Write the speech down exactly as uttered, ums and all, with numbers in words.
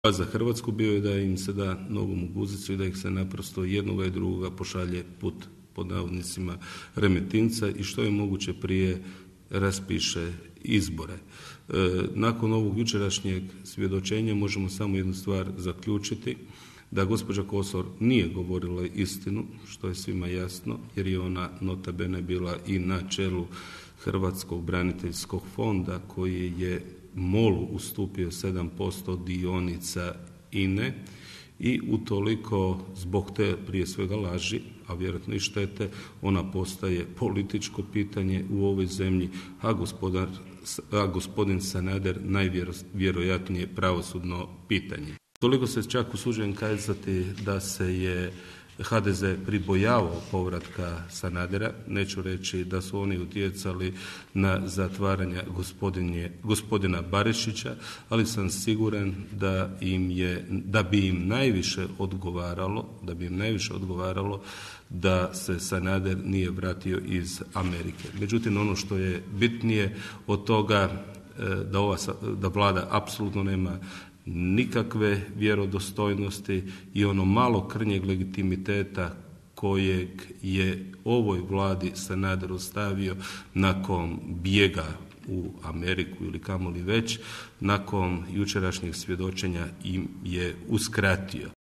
A za Hrvatsku bio je da im se da nogom u guzicu i da ih se naprosto jednoga i drugoga pošalje put, pod navodnicima, Remetinca i što je moguće prije raspiše izbore. E, nakon ovog jučerašnjeg svjedočenja možemo samo jednu stvar zaključiti, da gospođa Kosor nije govorila istinu, što je svima jasno, jer je ona nota bene bila i na čelu Hrvatskog braniteljskog fonda koji je MOL-u ustupio sedam posto dionica I N E i utoliko zbog te prije svega laži, a vjerojatno i štete, ona postaje političko pitanje u ovoj zemlji, a, gospodar, a gospodin Sanader najvjerojatnije pravosudno pitanje. Toliko se čak usuđujem kazati da se je H D Z pribojavao povratka Sanadera, neću reći da su oni utjecali na zatvaranje gospodina Barišića, ali sam siguran da im je, da bi im najviše odgovaralo, da bi im najviše odgovaralo da se Sanader nije vratio iz Amerike. Međutim, ono što je bitnije od toga da ova da vlada apsolutno nema nikakve vjerodostojnosti i ono malo krnjeg legitimiteta kojeg je ovoj vladi Sanader ostavio nakon bijega u Ameriku ili kamoli već, nakon jučerašnjeg svjedočenja im je uskratio.